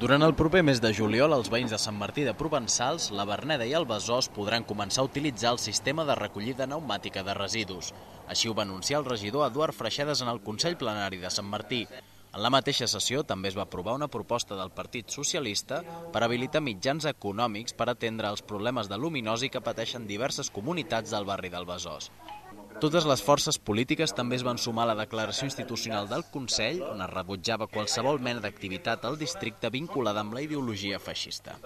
Durant el proper mes de juliol, els veïns de Sant Martí de Provençals, la Verneda i el Besòs podran començar a utilitzar el sistema de recollida pneumàtica de residus. Així ho va anunciar el regidor Eduard Freixedes en el Consell Plenari de Sant Martí. En la mateixa sessió també es va aprovar una proposta del Partit Socialista per habilitar mitjans econòmics per atendre els problemes de luminosi que pateixen diverses comunitats del barri del Besòs. Totes les forces polítiques també es van sumar a la declaració institucional del Consell, on es rebutjava qualsevol mena d'activitat al districte vinculada amb la ideologia feixista.